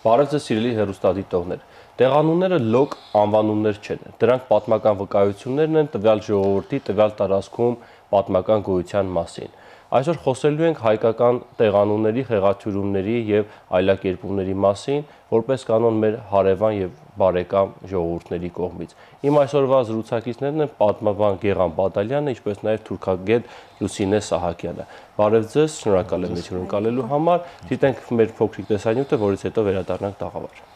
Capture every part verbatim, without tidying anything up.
Բարև ձեզ սիրելի հեռուստադիտողներ։ Տեղանունները լոկ անվանումներ չեն։ Դրանք պատմական վկայություններն են տվյալ ժողովրդի տվյալ տարածքում պատմական գոյության մասին։ Այսօր խոսելու ենք հայկական տեղանունների, խեղաթյուրումների եւ այլակերպումների մասին, որպես կանոն մեր հարևան եւ բարեկամ ժողովուրդների կողմից։ Իմ այսօրվա զրուցակիցներն են պատմաբան Գեղամ Բադալյանը, ինչպես նաեւ թուրքագետ Լուսինե Սահակյանը։ Բարև ձեզ, շնորհակալ եմ մեզ հյուրընկալելու համար։ Դիտենք մեր փոքրիկ տեսանյութը, որից հետո վերադառնանք տաղավար։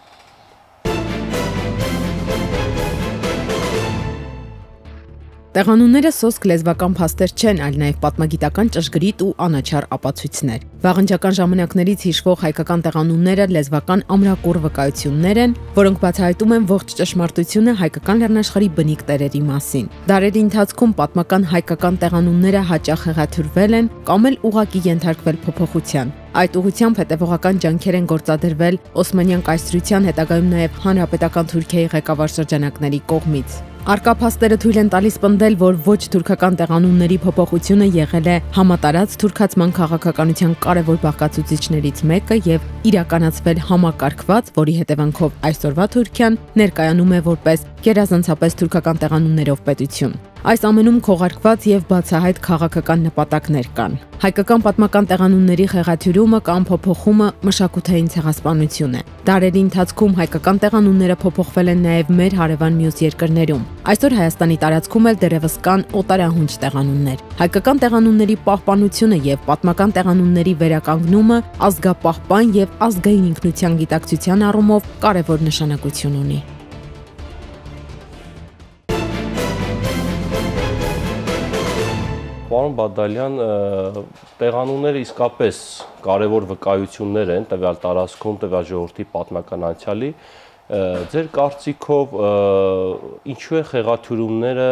Տեղանունները սոսկ լեզվական փաստեր չեն, այլ նաև պատմագիտական ճշգրիտ ու անաչառ ապացույցներ։ Վաղնջական ժամանակներից հիշվող հայկական տեղանունները լեզվական ամրակուռ վկայություններ են, որոնք բացահայտում են ողջ ճշմարտությունը հայկական լեռնաշխարհի բնիկ տերերի մասին։ Դարերի ընթացքում պատմական հայկական տեղանունները հաճախ հեղաթյուրվել են կամ էլ ուղղակի ենթարկվել փոփոխության։ Այդ ուղղությամբ հետևողական ջանքեր են գործադրվել Օսմանյան կայսրության, հետագայում նաև հանրապետական Թուրքիայի ղեկավար շրջանակների կողմից։ Առկա փաստերը թույլ են տալիս պնդել, որ ոչ թուրքական տեղանունների փոփոխությունը եղել է համատարած թուրքացման քաղաքականության կարևոր բաղկացուցիչներից մեկը եւ իրականացվել համակարգված, որի հետևանքով այսօրվա Թուրքիան ներկայանում է որպես գերազանցապես թուրքական տեղանուններով պետություն։ Այս ամենում քողարկված եւ բացահայտ քաղաքական նպատակներ կան։ Հայկական պատմական տեղանունների խեղաթյուրումը կամ փոփոխումը մշակութային ցեղասպանություն է։ Դարերի ընթացքում հայկական տեղանունները փոփոխվել են նաեւ մեր հարևան մյուս երկրներում։ Այսօր Հայաստանի տարածքում էլ դեռևս կան օտարահունչ տեղանուններ։ Հայկական տեղանունների պահպանությունը եւ պատմական տեղանունների վերականգնումը ազգապահպան եւ ազգային ինքնության գիտակցության առումով կարևոր նշանակություն ունի։ Պարոն Բադալյան, տեղանունները իսկապես կարևոր վկայություններ են տվյալ տարածքում, տվյալ ժողովրդի պատմական անցյալի։ Ձեր կարծիքով ինչու է խեղաթյուրումները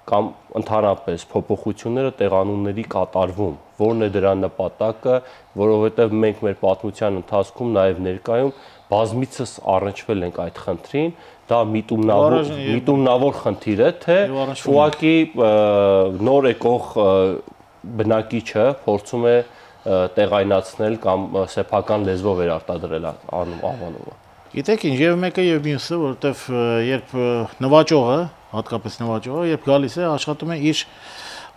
կամ ընդհանրապես փոփոխությունները տեղանունների կատարվում, որն է դրա նպատակը, որովհետև մենք մեր պատմության ընթացքում նաև ներկայում բազմիցս առնչվել ենք այդ խնդրին, դա միտումնավոր միտումնավոր խնդիր է, թե ուղղակի նոր եկող բնակիչը փորձում է տեղայնացնել կամ սեփական լեզվով արտադրել անվանումը։ Գիտեք ինչ, եւ մեկը եւ մյուսը, որովհետեւ երբ նվաճողը, հատկապես նվաճողը, երբ գալիս է, աշխատում է իր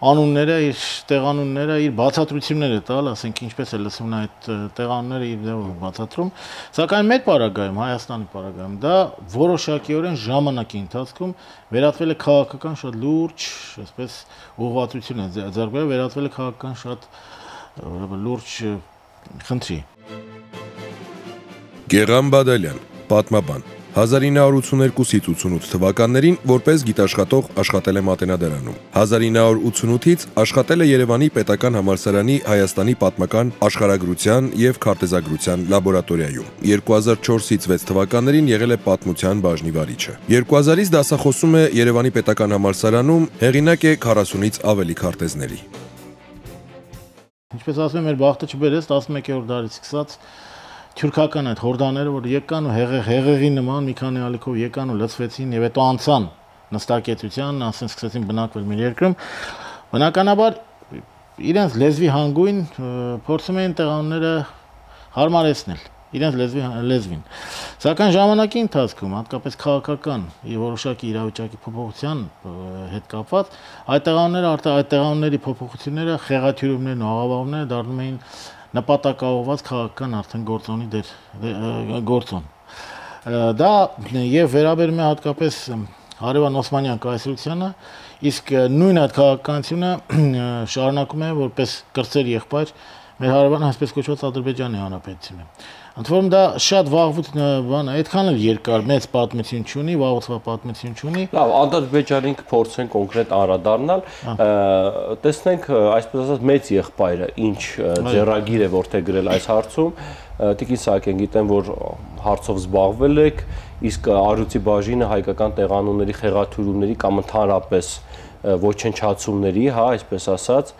անունները, իր տեղանունները, իր բացատրությունները տալ, ասենք ինչպես է լսվում այդ տեղանունները իր ձևով բացատրում, սակայն մեր պարագայում, Հայաստանի պարագայում, դա որոշակիորեն ժամանակի ընթացքում վերածվել է քաղաքական շատ լուրջ, այսպես ուղղվածություն է ձեռք բերել, վերածվել է քաղաքական շատ լուրջ խնդրի։ Գեղամ Բադալյան, պատմաբան, հազար ինը հարյուր ութսուներկուսից ութսունութ թվականներին որպես գիտաշխատող աշխատել է Մատենադարանում։ հազար ինը հարյուր ութսունութից աշխատել է Երևանի Պետական համալսարանի Հայաստանի պատմական աշխարհագրության եւ քարտեզագրության լաբորատորիայում։ երկու հազար չորսից վեց թվականներին եղել է պատմության բաժնի վարիչը։ երկու հազարից դասախոսում է Երևանի Պետական համալսարանում, հեղինակ է քառասունից ավելի քարտեզների։ Ինչպես ասում եմ, մեր բախտը չբերեց տասնմեկերորդ դարից սկսած թուրքական այդ հորդաները, որ եկան ու հեղեղի նման մի քանի ալիքով եկան ու լցվեցին եւ հետո անցան նստակեցության, ասեն սկսեցին բնակվել մեր երկրում, բնականաբար իրենց լեզվի հանգույն փորձում էին տեղանունները հարմարեցնել, իրենց լեզվի լեզվին։ Սակայն ժամանակի ընթացքում, հատկապես քաղաքական եւ որոշակի իրավիճակի փոփոխության հետ կապված, այդ տեղանունները արդեն այդ տեղանունների փոփոխությունները, խեղաթյուրումներն ու աղավաղումները դառնում էին նպատակաուղղված քաղաքական արդեն գործոնի դեր գործոն։ Դա եւ վերաբերում է հատկապես հարևան Օսմանյան կայսրությանը, իսկ նույն այդ քաղաքականությունը շարունակում է որպես կրտսեր եղբայր մեր հարևան այսպես կոչված Ադրբեջանի Հանրապետությունը։ Ընդ որում դա շատ վաղուց բան է, այդքան էլ երկար մեծ պատմություն չունի, վաղուցվա պատմություն չունի։ Լավ, Ադրբեջանին կփորձենք կոնկրետ անդրադառնալ, տեսնենք, այսպես ասած, մեծ եղբայրը ինչ ձեռագիր է որդեգրել այս հարցում։ Տիկին Սահակյան, գիտեմ, որ հարցով զբաղվել եք, իսկ Առյուծի բաժինը հայկական տեղանունների խեղաթյուրումների կամ ընդհանրապես ոչնչացումների, հա, այսպես ասած,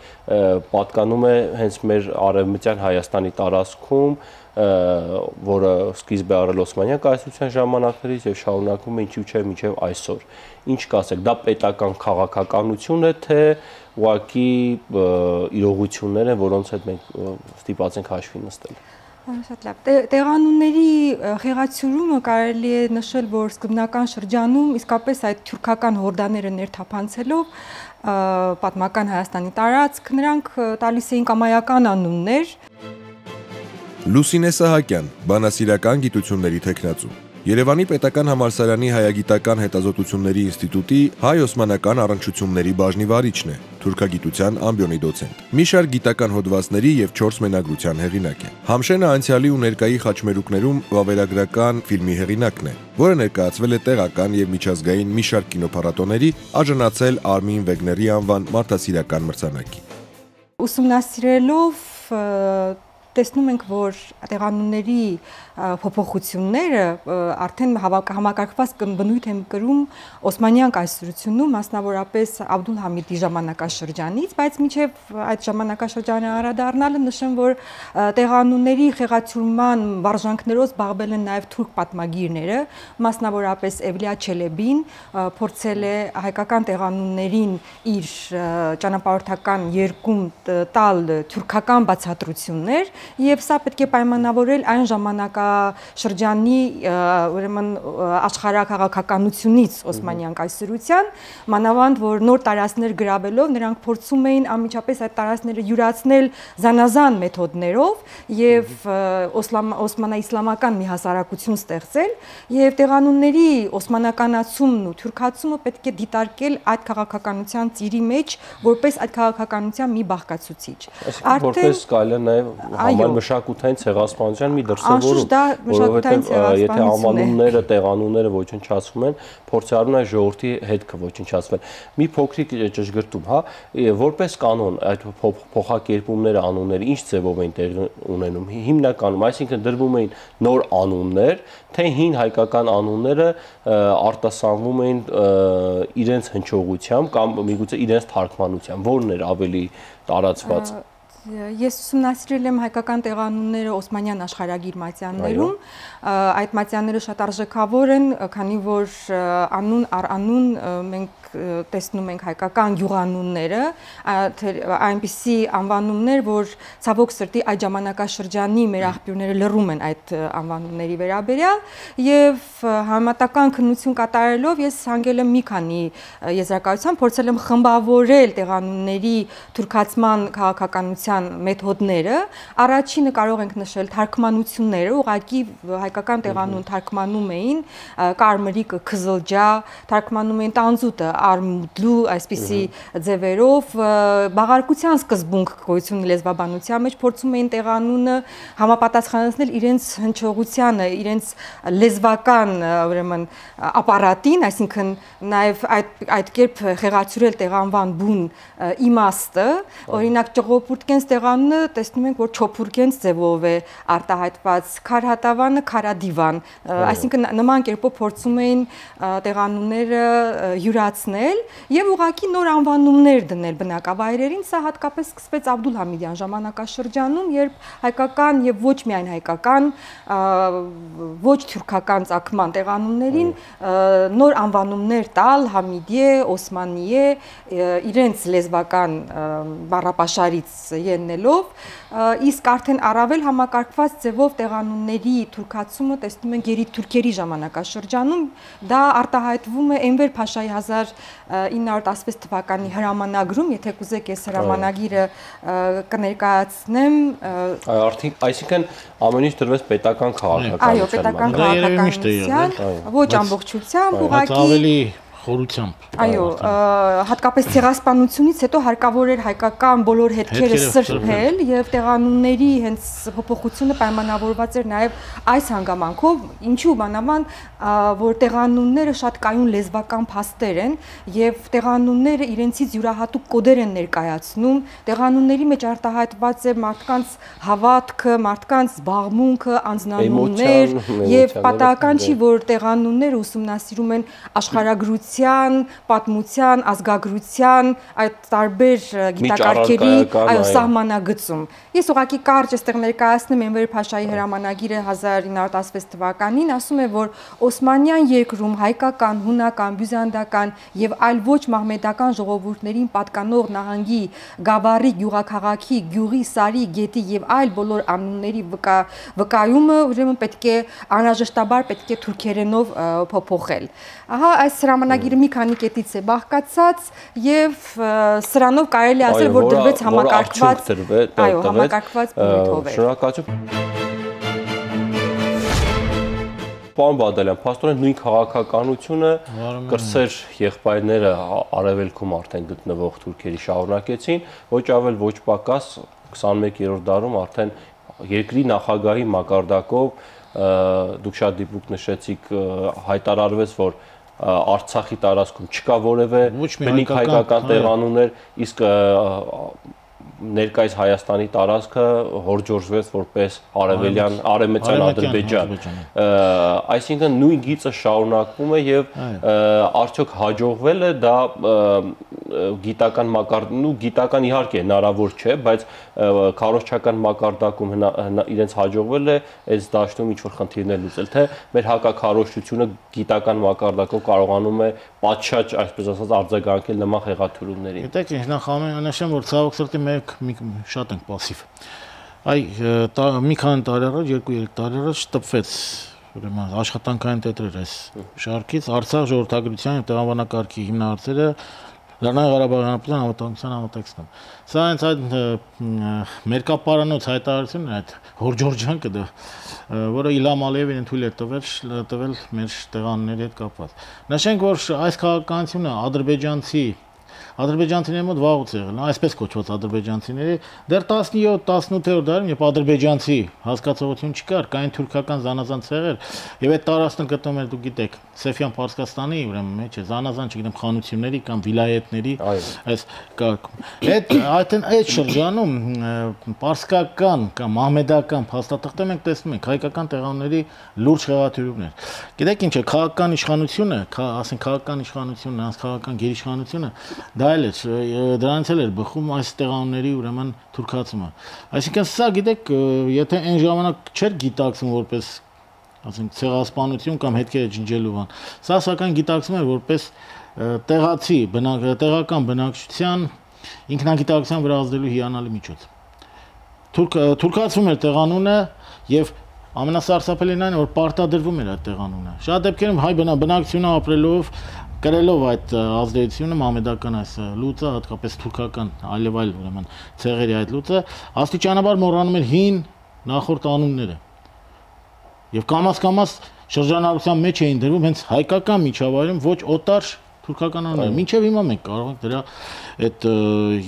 պատկանում է հենց մեր արևմտյան Հայաստանի տարածքում, որը սկիզբ է առել Օսմանյան կայսրության ժամանակներից եւ շարունակվում է ինչու՞ չէ մինչեւ այսօր։ Ինչ կասեք, դա պետական քաղաքականություն է, թե ուղղակի իրողություններ են, որոնց հետ մենք ստիպված ենք հաշվի նստել։ Շատ լավ։ Տեղանունների խեղաթյուրումը կարելի է նշել, որ սկզբնական շրջանում իսկապես այդ թուրքական հորդաները ներթափանցելով պատմական Հայաստանի տարածք նրանք տալիս էին կամայական անուններ։ Լուսինե Սահակյան, բանասիրական գիտությունների թեկնածու, Երևանի պետական համալսարանի հայագիտական հետազոտությունների ինստիտուտի հայ-օսմանական առնչությունների բաժնի վարիչն է, թուրքագիտության ամբիոնի դոցենտ։ Մի շարք գիտական հոդվածների եւ չորս մենագրության հեղինակ է։ Համշենը անցյալի ու ներկայի խաչմերուկներում վավերագրական ֆիլմի հեղինակն է, որը ներկայացվել է տեղական եւ միջազգային մի շարք կինոփառատոների, արժանացել Արմին Վեգների անվան մարդասիրական մրցանակի։ Ուսումնասիրելով տեսնում ենք, որ տեղանունների փոփոխությունները արդեն համակարգված բնույթ են կրում Օսմանյան կայսրությունում, մասնավորապես Աբդուլ Համիդի ժամանակաշրջանից, բայց մինչև այդ ժամանակաշրջանը անդրադառնալը նշեմ, որ տեղանունների խեղաթյուրման վարժանքներով զբաղվել են նաև թուրք պատմագիրները, մասնավորապես Էվլիա Չելեբին փորձել է հայկական տեղանուններին իր ճանապարհորդական երկում տալ թուրքական բացատրություններ, եւ սա պետք է պայմանավորել այն ժամանակաշրջանի ուրեմն աշխարհաքաղաքականությունից Օսմանյան կայսրության, մանավանդ որ նոր տարածքներ գրավելով նրանք փորձում էին անմիջապես այդ տարածքները յուրացնել զանազան մեթոդներով եւ օսմանա-իսլամական մի հասարակություն ստեղծել եւ տեղանունների օսմանականացումն ու թուրքացումը պետք է դիտարկել այդ քաղաքականության ծիրի մեջ որպես այդ քաղաքականության մի բաղկացուցիչ։ Արդեն որպես կարելի է նաեւ Համալ մշակութային ցեղասպանության մի դրսևորում, որովհետև եթե անվանումները, տեղանունները ոչնչացվում են, փորձառում են ժողովրդի հետքը ոչնչացվել։ Մի փոքրիկ ճշգրտում, հա, որպես կանոն այդ փոխակերպումները, անունները ինչ ձևով են տեղի ունենում։ Հիմնականում, այսինքն դրվում էին նոր անուններ, թե հին հայկական անունները արտասանվում էին իրենց հնչողությամբ կամ միգուցե իրենց թարգմանությամբ, որն էր ավելի տարածված։ Ես ուսումնասիրել եմ հայկական տեղանունները Օսմանյան աշխարհագիր մատյաններում, այդ մատյանները շատ արժեքավոր են, քանի որ անուն առ անուն մենք տեսնում ենք հայկական գյուղանունները, այնպիսի անվանումներ, որ ցավոք սրտի այդ ժամանակաշրջանի մեր աղբյուրները լռում են այդ անվանումների վերաբերյալ, եւ համատական քննություն կատարելով ես հանգել եմ մի քանի եզրակացության, փորձել եմ խմբավորել տեղանունների թուրքացման քաղաքականության մեթոդները, առաջինը կարող ենք նշել թարգմանությունները, ուղղակի հայկական տեղանուն թարգմանում էին կարմրիկը, քզլջա, թարգմանում էին տանձուտը, արմուդլու, այսպիսի ձևերով, բաղարկության սկզբունք գոյություն լեզվաբանության մեջ փորձում էին տեղանունը համապատասխանեցնել իրենց հնչողությանը, իրենց լեզվական, ուրեմն, ապարատին, այսինքն նաև այդ այդ կերպ խեղաթյուրել տեղանվան բուն իմաստը, օրինակ ճղոպուրտկենս տեղանունը տեսնում ենք, որ չոփուրկենս ձևով է արտահայտված, քարհատավանը քարադիվան, այսինքն նման կերպով փորձում էին տեղանունները յուրացնել եւ ուղղակի նոր անվանումներ դնել բնակավայրերին, սա հատկապես սկսվեց Աբդուլ Համիդյան ժամանակաշրջանում, երբ հայկական եւ ոչ միայն հայկական, ոչ թուրքական ծագման տեղանուններին նոր անվանումներ տալ, Համիդիե, Օսմանիե, իրենց լեզվական բառապաշարից ելնելով, իսկ արդեն առավել համակարգված ձևով տեղանունների թուրքացումը տեսնում ենք գերիթուրքերի ժամանակաշրջանում, դա արտահայտվում է Էնվեր Փաշայի հազար ինը հարյուր տասնվեց թվականի հրամանագրում, եթե կուզեք ես հրամանագիրը կներկայացնեմ։ Այսինքն ամեն ինչ դրվեց պետական քաղաքականության։ Այո, պետական քաղաքականության, ոչ ամբողջությամբ, ուղղակի խորությամբ։ Այո, հատկապես ցեղասպանությունից հետո հարկավոր էր հայկական բոլոր հետքերը սրբել եւ տեղանունների հենց փոփոխությունը պայմանավորված էր նաեւ այս հանգամանքով, ինչու բանավան, որ տեղանունները շատ կայուն լեզվական փաստեր են եւ տեղանունները իրենցից յուրահատուկ կոդեր են ներկայացնում, տեղանունների մեջ արտահայտված է մարդկանց հավատքը, մարդկանց զբաղմունքը, անձնանուններ եւ պատահական չի, որ տեղանունները ուսումնասիրում են աշխարհագրություն գիտության, պատմության, ազգագրության, այդ տարբեր գիտակարգերի այո սահմանագծում։ Ես ուղղակի կարճ այստեղ ներկայացնում եմ Էնվեր Փաշայի հրամանագիրը հազար ինը հարյուր տասնվեց թվականին, ասում է, որ Օսմանյան երկրում հայկական, հունական, բյուզանդական եւ այլ ոչ մահմեդական ժողովուրդներին պատկանող նահանգի, գավառի, գյուղաքաղաքի, գյուղի, սարի, գետի եւ այլ բոլոր անունների վկայումը ուրեմն պետք է անհրաժեշտաբար պետք է թուրքերենով փոփոխել։ Ահա այս հրամանագիրը մի քանի կետից է բաղկացած եւ սրանով կարելի ասել, որ դրվեց համակարգված, այո, համակարգված բնույթով է։ Շնորհակալություն։ Պարոն Բադալյան, փաստորեն նույն քաղաքականությունը կրսեր եղբայրները արևելքում արդեն գտնվող թուրքերի շարունակեցին, ոչ ավել ոչ պակաս քսանմեկերորդ դարում արդեն երկրի նախագահի մակարդակով դուք շատ դիպուկ նշեցիք հայտարարվեց, որ Արցախի տարածքում չկա որևէ բնիկ հայկական տեղանուններ, իսկ ներկայիս Հայաստանի տարածքը հորջորժվեց որպես արևելյան արևմտյան Ադրբեջան։ Այսինքն նույն գիծը շարունակվում է եւ արդյոք հաջողվել է դա գիտական մակարդակում, ու գիտական իհարկե հնարավոր չէ, բայց քարոզչական մակարդակում իրենց հաջողվել է այս դաշտում ինչ-որ խնդիրներ լուծել, թե մեր հակաքարոզչությունը գիտական մակարդակով կարողանում է պատշաճ, այսպես ասած, արձագանքել նման խեղաթյուրումներին։ Գիտեք, նախ ամենաշեմ, որ ցավոք սրտի մենք շատ ենք пассив։ Այ մի քանի տարի առաջ, երկու-երեք տարի առաջ տպվեց ուրեմն աշխատանքային տետրեր այս շարքից Արցախ ժողովրդագրության եւ տեղաբանակարգի հիմնահարցերը Լեռնային Ղարաբաղի Հանրապետության անվտանգության համատեքստում։ Սա հենց այդ մերկապարանոց հայտարարությունն է, այդ հորջորջանքը դա, որը Իլհամ Ալիևին թույլ է տվել տվել մեր տեղանունների հետ կապված։ Նշենք, որ այս քաղաքականությունը ադրբեջանցի ադրբեջանցիների մոտ վաղուց եղել, այսպես կոչված ադրբեջանցիների, դեռ տասնյոթ տասնութերորդ դարում, երբ ադրբեջանցի հասկացողություն չկար, կային թուրքական զանազան ցեղեր, եւ այդ տարածքն գտնվում էր, դուք գիտեք, Սեֆյան Պարսկաստանի, ուրեմն մեջ է, զանազան, չգիտեմ, խանությունների կամ վիլայեթների, այս կարգում։ Այդ այդն այդ շրջանում պարսկական կամ մահմեդական փաստաթղթեր մենք տեսնում ենք հայկական տեղանունների լուրջ խեղաթյուրումներ։ Գիտեք ինչ է, քաղաքական իշխանությունը, ասենք քաղաքական իշխանությունն, նրանց քաղաքական գերիշխանությունը դա էլ է, դրանից էլ էր բխում այս տեղանունների ուրեմն թուրքացումը։ Այսինքն սա գիտեք, եթե այն ժամանակ չէր գիտակցում որպես ասենք ցեղասպանություն կամ հետքերը ջնջելու բան, սա սակայն գիտակցում էր որպես տեղացի տեղական բնակչության ինքնագիտակցության վրա ազդելու հիանալի միջոց։ Թուրքացվում էր տեղանունը եւ ամենասարսափելին այն որ պարտադրվում էր այդ տեղանունը։ Շատ դեպքերում հայ բնակչությունը ապրելով կրելով այդ ազդեցությունը մամեդական այս լուծը, հատկապես թուրքական այլև այլ ուրեմն ցեղերի այդ լուծը, աստիճանաբար մոռանում էր հին նախորդ անունները։ Եվ կամաց-կամաց շրջանառության մեջ էին դրվում հենց հայկական միջավայրում ոչ օտար թուրքական անուններ։ Մինչև հիմա մենք կարող ենք դրա այդ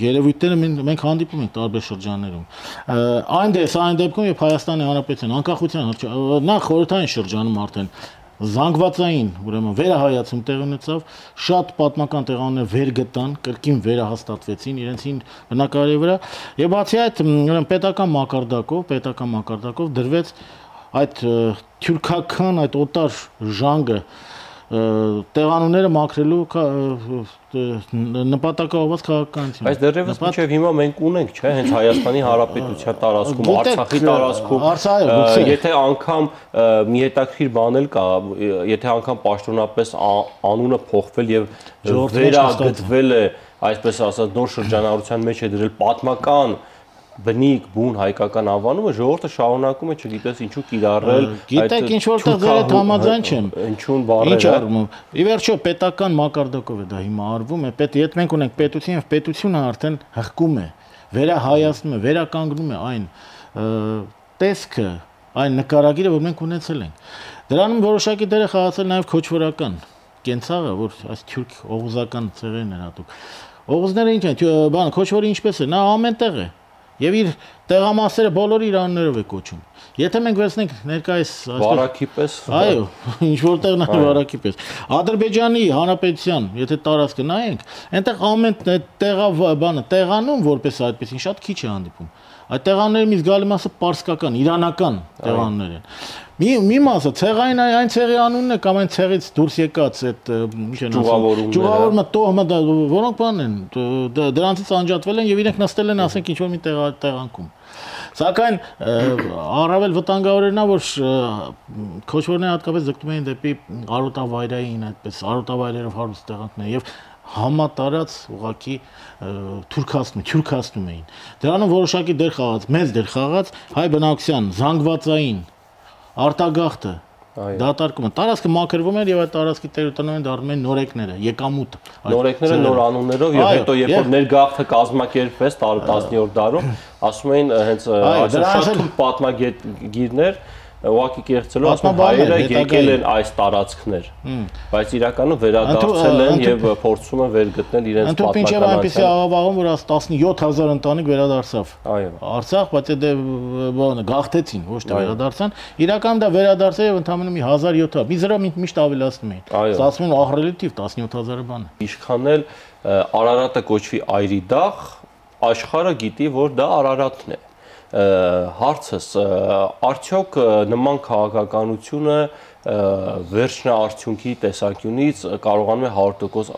երևույթները մենք հանդիպում ենք տարբեր շրջաններում։ Այն դեպս այն դեպքում, երբ Հայաստանի Հանրապետության անկախության նախ խորհրդային շրջանում արդեն զանգվածային, ուրեմն վերահայացում տեղ ունեցավ, շատ պատմական տեղանուններ վեր գտան, կրկին վերահաստատվեցին իրենցին բնակարանի վրա, եւ բացի այդ, ուրեմն պետական մակարդակով, պետական մակարդակով դրվեց այդ թուրքական, այդ օտար ժանգը տեղանունները մաքրելու նպատակաուղղված քաղաքականություն։ Բայց դեռևս մինչև հիմա մենք ունենք, չէ՞, հենց Հայաստանի Հանրապետության տարածքում, Արցախի տարածքում, եթե անգամ մի հետաքրքիր բան էլ կա, եթե անգամ պաշտոնապես անունը փոխվել եւ վերագծվել է, այսպես ասած, նոր շրջանառության մեջ է դրել պատմական բնիկ բուն հայկական անվանումը, ժողովուրդը շարունակում է, չգիտես ինչու կիրառել։ Գիտեք ինչ որտեղ ձեր հետ համաձայն չեմ։ Ինչուն բառերը։ Ինչ առումով։ Ի վերջո պետական մակարդակով է դա հիմա արվում է, պետ եթե մենք ունենք պետություն եւ պետությունը արդեն հղկում է, վերահայացնում է, վերականգնում է այն տեսքը, այն նկարագիրը, որ մենք ունեցել ենք։ Դրանում որոշակի դեր է խաղացել նաեւ քոչվորական կենցաղը, որ այս թուրք օղուզական ցեղերն են հատուկ։ Օղուզները ինչ են, բան, քոչվորը ինչպես է, նա ամենտեղ է։ Եվ իր տեղամասերը բոլորի իր անուններով է կոչում։ Եթե մենք վերցնենք ներկայիս վարակի պես, այո, ինչ որտեղ նա վարակի պես։ Ադրբեջանի Հանրապետության, եթե տարածքը նայենք, այնտեղ ամեն տեղա բանը, տեղանում որպես այդպեսին շատ քիչ է հանդիպում։ Այդ տեղանների մի զգալի մասը պարսկական, իրանական տեղաններ են։ Մի մի մասը ցեղային այն ցեղի անունն է կամ այն ցեղից դուրս եկած այդ ինչ են ասում ճյուղավորումը տոհմը որոնք բան են դրանցից անջատվել են եւ իրենք նստել են ասենք ինչ որ մի տեղանքում սակայն առավել վտանգավոր էր նա որ քոչվորները հատկապես ձգտում էին դեպի արոտավայրային այդպես արոտավայրերով հարուստ տեղանքներ եւ համատարած ուղակի թուրքացնում թուրքացնում էին դրանում որոշակի դեր խաղաց մեծ դեր խաղաց հայ բնակության զանգվածային արտագաղթը դատարկումը տարածքը մաքրվում էր եւ այդ տարածքի տերությանն դառնում են նորեկները եկամուտ նորեկները նոր անուններով եւ հետո երբ որ ներգաղթը կազմակերպվեց տասնյորդ դարում ասում էին հենց շատ պատմագիրներ ուղղակի կեղծելով ասում հայերը եկել են այս տարածքներ բայց իրականում վերադարձել են եւ փորձում են վերգտնել իրենց պատմական այնպեսի աղավաղում որ տասնյոթ հազար ընտանիք վերադարձավ Արցախ բայց դե բանը գաղթեցին ոչ թե վերադարձան իրականում դա վերադարձել եւ ընդամենը մի հազար յոթ մի զրո միշտ ավելացնում էին ասում են ահռելի թիվ տասնյոթ հազարը բան է Իշխան էլ Արարատը կոչվի այրի դաղ աշխարհը գիտի որ դա Արարատն է հարցս արդյոք նման քաղաքականությունը վերջնաարդյունքի տեսանկյունից կարողանում է հարյուր տոկոս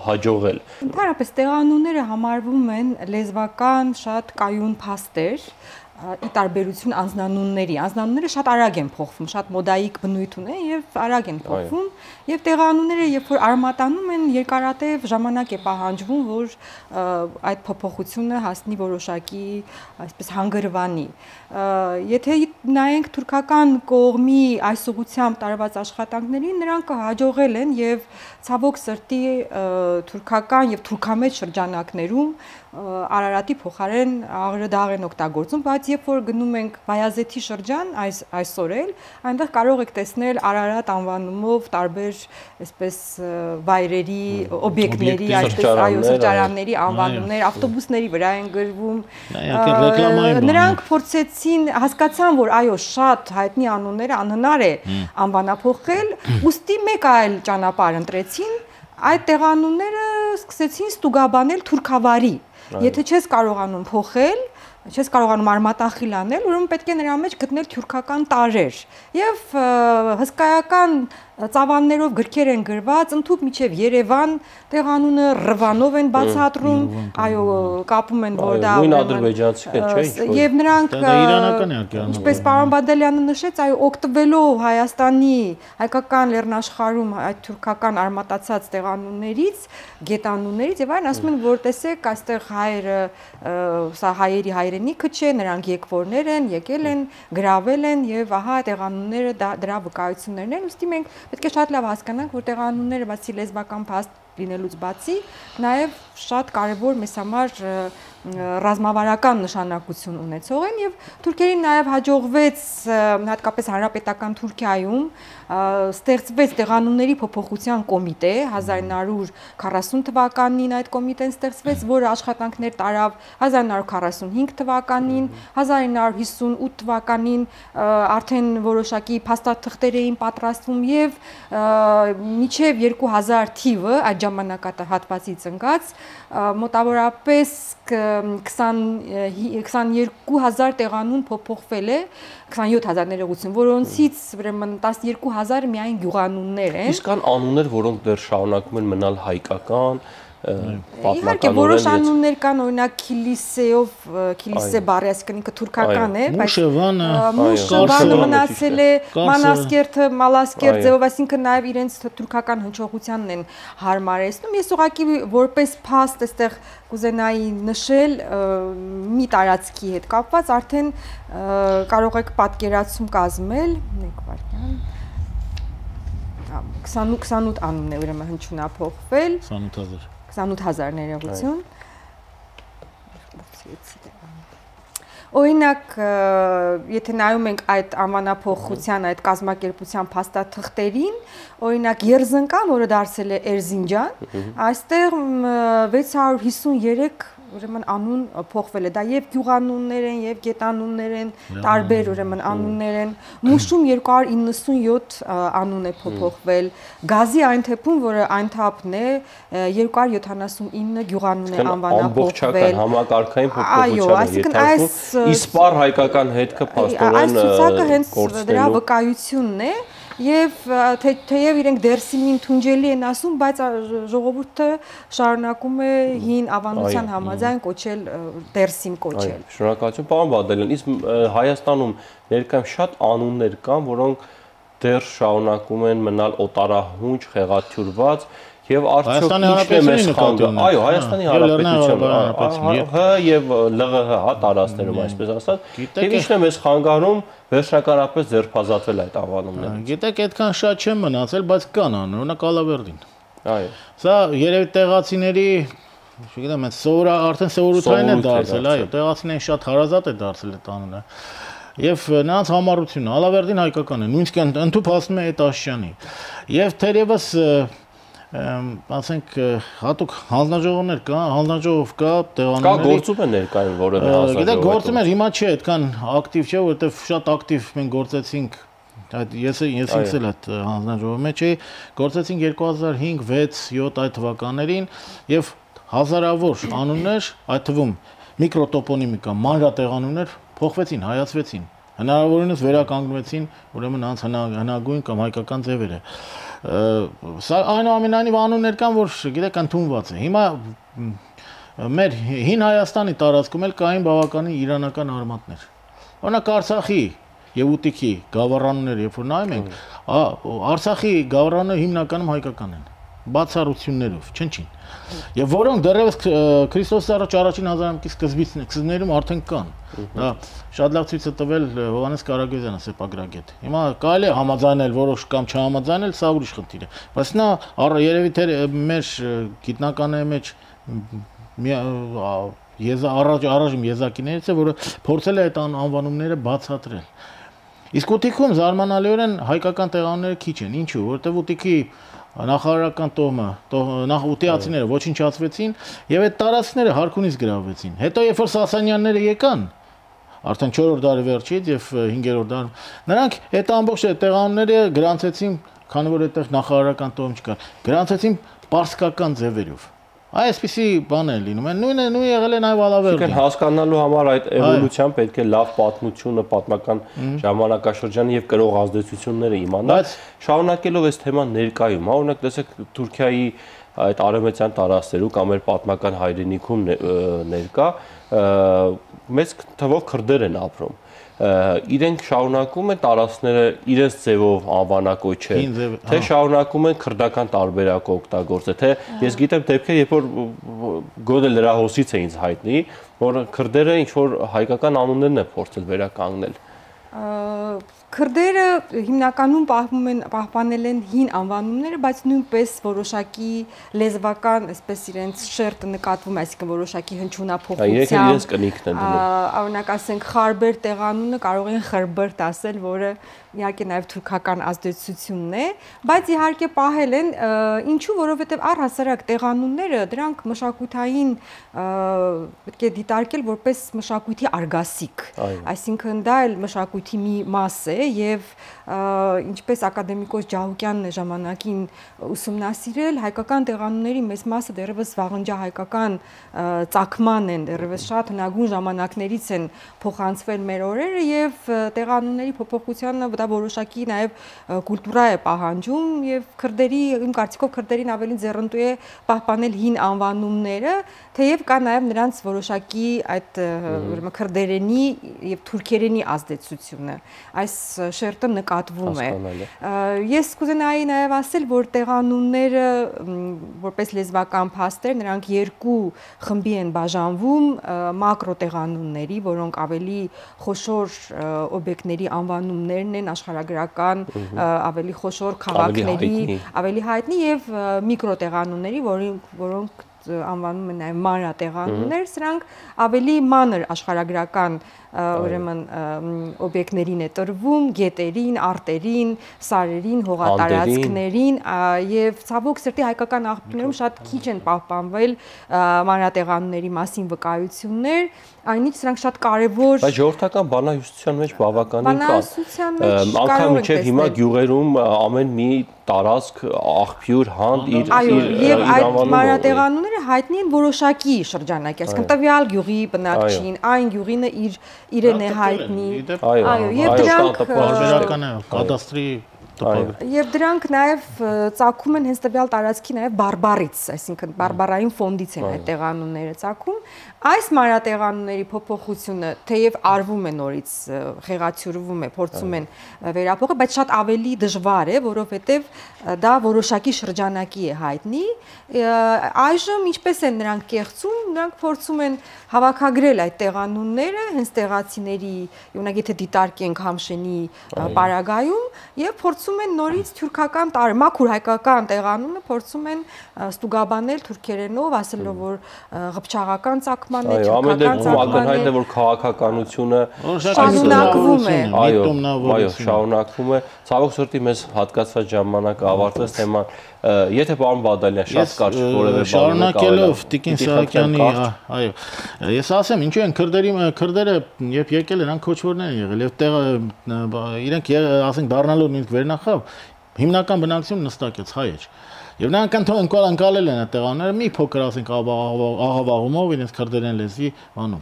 հաջողել։ Ընդհանրապես տեղանունները համարվում են լեզվական շատ կայուն փաստեր ի տարբերություն անձնանունների անձնանունները շատ արագ են փոխվում, շատ մոդայիկ բնույթ ունեն եւ արագ են փոխվում եւ տեղանունները երբ որ արմատանում են երկարատև ժամանակ է պահանջվում որ այդ փոփոխությունը հասնի որոշակի այսպես հանգրվանի եթե նայենք թուրքական կողմի այս ուղղությամբ տարված աշխատանքներին նրանք հաջողել են եւ ցավոք սրտի թուրքական եւ թուրքամետ շրջանակներում Արարատի փոխարեն աղրդաղ են օգտագործում, բայց երբ որ գնում ենք Բայազեթի շրջան, այս այսօր էլ, այնտեղ կարող եք տեսնել Արարատ անվանումով տարբեր այսպես վայրերի, օբյեկտների, այսպես այո, սրճարանների անվանումներ, ավտոբուսների վրա են գրվում։ Նրանք փորձեցին, հասկացան, որ այո, շատ հայտնի անունները անհնար է անվանափոխել, ուստի մեկ այլ ճանապարհ ընտրեցին, այդ տեղանունները սկսեցին ստուգաբանել թուրքավարի Եթե չես կարողանում փոխել, չես կարողանում արմատախիլ անել, ուրեմն պետք է նրա մեջ գտնել թուրքական տարրեր։ Եվ հսկայական ծավալներով գրքեր են գրված, ընդհուպ միջև Երևան տեղանունը Ռվանով են բացատրում, այո, կապում են, որ դա նույն ադրբեջանցիք չէ, ինչ-որ։ Եվ նրանք ինչպես պարոն Բադալյանը նշեց, այո, օգտվելով Հայաստանի հայկական լեռնաշխարհում այդ թուրքական արմատացած տեղանուններից, գետանուններից եւ այլն, ասում են, որ տեսեք, այստեղ հայերը, սա հայերի հայրենիքը չէ, նրանք եկվորներ են, եկել են, գրավել են եւ ահա տեղանունները դրա վկայություններն են, ուստի մենք պետք է շատ լավ հասկանանք, որ տեղանունները բացի լեզվական փաստ լինելուց բացի, նաև շատ կարևոր մեզ համար ռազմավարական նշանակություն ունեցող են եւ թուրքերին նաև հաջողվեց հատկապես հանրապետական Թուրքիայում ստեղծվեց տեղանունների փոփոխության կոմիտե հազար ինը հարյուր քառասուն թվականին այդ կոմիտեն ստեղծվեց, որը աշխատանքներ տարավ հազար ինը հարյուր քառասունհինգ թվականին, հազար ինը հարյուր հիսունութ թվականին արդեն որոշակի փաստաթղթեր էին պատրաստվում եւ մինչեւ երկու հազար թիվը այդ ժամանակահատվածից ընկած մոտավորապես քսաներկու հազար տեղանուն փոփոխվել է, քսանյոթ հազար ներողություն, որոնցից ուրեմն տասներկու հազար միայն գյուղանուններ են։ Իսկ կան անուններ, որոնք դեռ շարունակում են մնալ հայկական, Իհարկե որոշ անուններ կան, օրինակ Քիլիսեով, Քիլիսե բառի, այսինքն ինքը թուրքական է, բայց Մուշևանը մնացել է, Մանասկերտը, Մալասկերտ ձևով, այսինքն նաև իրենց թուրքական հնչողությանն են հարմարեցնում։ Ես ուղղակի որպես փաստ այստեղ կուզենայի նշել մի տարածքի հետ կապված, արդեն կարող եք պատկերացում կազմել, մեկ վայրկյան քսանութ անուն է ուրեմն հնչյունափոխվել, քսանութ հազար ներողություն։ Օրինակ, եթե նայում ենք այդ անվանափոխության, այդ կազմակերպության փաստաթղթերին, օրինակ Երզնկան, որը դարձել է Էրզինջան, այստեղ վեց հարյուր հիսունյերեք ուրեմն անուն փոխվել է։ Դա եւ գյուղանուններ են, եւ գետանուններ են, տարբեր ուրեմն անուններ են։ Մուշում երկու հարյուր իննսունյոթ անուն է փոփոխվել։ Գազի այն թեփում, որը այն թափն է, երկու հարյուր յոթանասունինը գյուղանուն է անվանափոխվել։ Համակարգային փոփոխություն է ենթարկվում։ Իսպար հայկական հետքը փաստորեն այս ցուցակը հենց դրա վկայությունն է։ Եվ թեև իրենք դերսիմին թունջելի են ասում, բայց ժողովուրդը շարունակում է հին ավանդության համաձայն կոչել դերսիմ կոչել։ Շնորհակալություն, պարոն Բադալյան, իսկ Հայաստանում ներկայում շատ անուններ կան, որոնք դեռ շարունակում են մնալ օտարահունչ, խեղաթյուրված եւ արդյոք ինչն է մեզ խանգարում։ Այո, Հայաստանի Հանրապետության ՀՀ եւ ԼՂՀ, հա, տարածքներում այսպես ասած, եւ ինչն է մեզ խանգարում վերջնականապես ձերբազատվել այդ անվանումները։ Գիտեք, այդքան շատ չեն մնացել, բայց կան անուն, օրինակ Ալավերդին։ Այո։ Սա երևի տեղացիների, չգիտեմ, այս սովորա արդեն սովորութային է դարձել, այո, տեղացիներին շատ հարազատ է դարձել այդ անունը։ Եվ նրանց համառությունը Ալավերդին հայկական է, նույնիսկ ընդհանուր հասնում է այդ Աշճանի։ Եվ թերևս ասենք հատուկ հանձնաժողովներ կա, հանձնաժողով կա տեղանունների։ Կա գործում է ներկայում որևէ հանձնաժողով։ Գիտեք, գործում է, հիմա չէ, այդքան ակտիվ չէ, որովհետև շատ ակտիվ մենք գործեցինք, այդ ես ես ինքս էլ այդ հանձնաժողովի մեջ էի, գործեցինք երկու հազար հինգ վեց յոթ այդ թվականներին եւ հազարավոր անուններ, այդ թվում միկրոտոպոնիմիկա, մանրատեղանուններ փոխվեցին, հայացվեցին, հնարավորինս վերականգնվեցին, ուրեմն անց հնագույն կամ հայկական ձևերը։ Սա այնուամենայնիվ անուններ կան, որ գիտեք ընդունված է։ Հիմա մեր հին Հայաստանի տարածքում էլ կային բավականին իրանական արմատներ։ Օրինակ Արցախի եւ Ուտիքի գավառանները, երբ որ նայում ենք, Արցախի գավառանները հիմնականում հայկական են, բացառություններով, չնչին։ Եվ որոնք դեռևս Քրիստոսից առաջ առաջին հազարամյակի սկզբներում արդեն կան։ Դա շատ լավ ցույց է տվել Հովհաննես Կարագոզյանը, սեպագրագետ։ Հիմա կարելի է համաձայնել որոշ կամ չհամաձայնել, սա ուրիշ խնդիր է։ Բայց նա երևի թե մեր գիտնականների մեջ եզա առաջ առաջին եզակիներից է, որը փորձել է այդ անվանումները բացատրել։ Իսկ Ուտիքում զարմանալիորեն հայկական տեղանունները քիչ են։ Ինչու՞, որովհետև Ուտիքի նախարարական տոհմը, նախ ուտիացիները ոչնչացվեցին եւ այդ տարածքները Հարքունից գրավվեցին։ Հետո երբ որ Սասանյանները եկան, արդեն չորրորդ դարի վերջից եւ հինգերորդ դար, նրանք այդ ամբողջ տեղանունները գրանցեցին, քանի որ այդտեղ նախարարական տոհմ չկար, գրանցեցին պարսկական ձևերով։ Այսպիսի բան է լինում, նույնը նույն եղել է նաև Ալավերդին։ Հասկանալու համար այդ էվոլյուցիան պետք է լավ պատմությունը, պատմական ժամանակաշրջանը եւ կրող ազդեցությունները իմանալ։ Շարունակելով այս թեման ներկայում, հա, օրինակ տեսեք Թուրքիայի այդ արևմտյան տարածքներում կամ մեր պատմական հայրենիքում ներկա մեծ թվով քրդեր են ապրում։ Իրենք շարունակում են տարածքները իրենց ձևով անվանակոչել, թե շարունակում են քրդական տարբերակ օգտագործել, թե ես գիտեմ դեպքեր, երբ որ գոնե լրահոսից է ինձ հայտնի, որ քրդերը ինչ որ հայկական անուններն են փորձել վերականգնել։ Քրդերը հիմնականում պահպանում են պահպանել են հին անվանումները, բայց նույնպես որոշակի լեզվական, այսպես իրենց շերտը նկատվում է, այսինքն որոշակի հնչյունափոխությամբ։ Իրենց կնիքն են դնում։ Օրինակ ասենք Խարբեր տեղանունը կարող են Խրբերտ ասել, որը իհարկե նաև թուրքական ազդեցությունն է, բայց իհարկե պահել են, ինչու, որովհետև առհասարակ տեղանունները դրանք մշակութային պետք է դիտարկել որպես մշակույթի արգասիկ, այսինքն դա էլ մշակույթի մի մաս է եւ ինչպես ակադեմիկոս Ջահուկյանն է ժամանակին ուսումնասիրել, հայկական տեղանունների մեծ մասը դեռևս վաղնջահայկական ծագման են, դեռևս շատ հնագույն ժամանակներից են փոխանցվել մեր օրերը եւ տեղանունների փոփոխությանը դա որոշակի նաև կուլտուրա է պահանջում եւ քրդերի, իմ կարծիքով քրդերին ավելի ձեռնտու է պահպանել հին անվանումները, թեև կա նաև նրանց որոշակի այդ ուրեմն քրդերենի եւ թուրքերենի ազդեցությունը։ Այս շերտը նկատվում է։ Ես կուզենայի նաև ասել, որ տեղանունները որպես լեզվական փաստեր, նրանք երկու խմբի են բաժանվում՝ մակրո տեղանունների, որոնք ավելի խոշոր օբյեկտների անվանումներն են, աշխարհագրական ավելի խոշոր քաղաքների ավելի հայտնի եւ միկրո տեղանունների, որոնք անվանում են նաև մանրատեղանուններ, սրանք ավելի մանր աշխարհագրական ուրեմն օբյեկտներին է տրվում, գետերին, արտերին, սարերին, հողատարածքներին եւ ցավոք սրտի հայկական աղբյուրներում շատ քիչ են պահպանվել մանրատեղանունների մասին վկայություններ, այնինչ սրանք շատ կարեւոր Բայց ժողովրդական բանահյուսության մեջ բավականին կան։ Բանահյուսության մեջ անգամ մինչև հիմա գյուղերում ամեն մի տարածք, աղբյուր, հանդ իր իր եւ այդ մանրատեղանունները հայտնի են որոշակի շրջանակի, այսինքն տվյալ գյուղի բնակչին, այն գյուղինը իր իրեն է հայտնի։ Այո, եւ դրանք բարբերական է կադաստրի Եվ դրանք նաև ծագում են հենց տվյալ տարածքի նաև բարբարից, այսինքն բարբարային ֆոնդից են այդ տեղանունները ծագում։ Այս մանրատեղանունների փոփոխությունը թեև արվում է նորից, խեղաթյուրվում է, փորձում են վերափոխել, բայց շատ ավելի դժվար է, որովհետև դա որոշակի շրջանակի է հայտնի։ Այժմ ինչպես են նրանք կեղծում, նրանք փորձում են հավաքագրել այդ տեղանունները, հենց տեղացիների, օրինակ եթե դիտարկենք Համշենի պարագայում, եւ փորձում են նորից թուրքական տարր, մաքուր հայկական տեղանունը փորձում են ստուգաբանել թուրքերենով, ասելով որ ղփչաղական ծագման է, թուրքական ծագման է, որ քաղաքականությունը շարունակվում է։ Այո, այո, շարունակվում է։ Ցավոք սրտի մեզ հատկացված ժամանակը ավարտվեց թեման։ Եթե պարոն Բադալյան շատ կարճ որևէ բան շարունակելով Տիկին Սահակյանի, այո, ես ասեմ, ինչու են քրդերի քրդերը երբ եկել են, նրանք քոչվորներ են եղել եւ տեղը իրենք ասենք դառնալով ինք վերնախավ, հիմնական բնակչությունը նստակեց հայեր։ Եվ նրանք ընդունել անցալել են այդ տեղանները մի փոքր ասենք աղավաղումով իրենց քրդերեն լեզվի բանով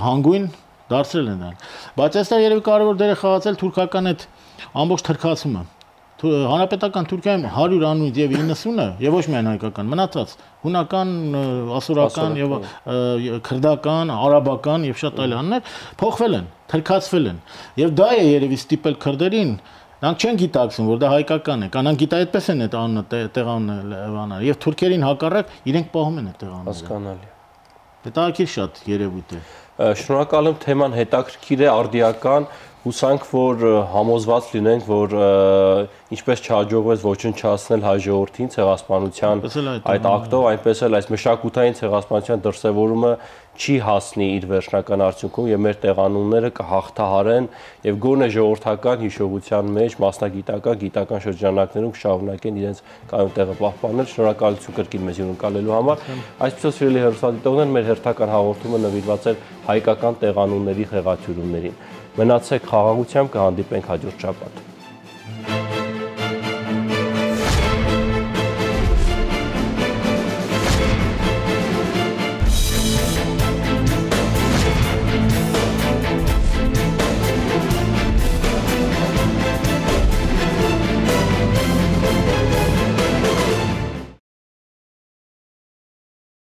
հանգույն դարձրել են դրան։ Բայց այստեղ երևի կարևոր դեր է խաղացել թուրքական այդ ամբողջ թրքացումը։ Հանրապետական Թուրքիայում հարյուր անունից եւ իննսունը եւ ոչ միայն հայկական մնացած հունական, ասորական եւ քրդական, արաբական եւ շատ այլ անուններ փոխվել են, թրքացվել են։ Եվ դա է երևի ստիպել քրդերին, նրանք չեն գիտակցում, որ դա հայկական է, կանանք գիտա այդպես են այդ անունը տեղանունը բանալ եւ թուրքերին հակառակ իրենք պահում են այդ տեղանունները։ Հասկանալի։ Դա ակիր շատ երևույթ է։ Շնորհակալ եմ, թեման հետաքրքիր է, արդիական, հուսանք, որ համոզված լինենք, որ ինչպես չհաջողվեց ոչնչացնել հայ ժողովրդին ցեղասպանության այդ ակտով, այնպես էլ այս մշակութային ցեղասպանության դրսևորումը չի հասնի իր վերջնական արդյունքում եւ մեր տեղանունները կհաղթահարեն եւ գոնե ժողովրդական հիշողության մեջ, մասնագիտական, գիտական շրջանակներում կշարունակեն իրենց կայուն տեղը պահպանել։ Շնորհակալություն կրկին մեզ հյուրընկալելու համար։ Այսպեսով սիրելի հեռուստադիտողներ, մեր հերթական հաղորդումը նվիրված էր հայկական տեղանունների խեղաթյուրումներին։ Մնացեք խաղաղությամբ, կհանդիպենք հաջորդ շաբաթ։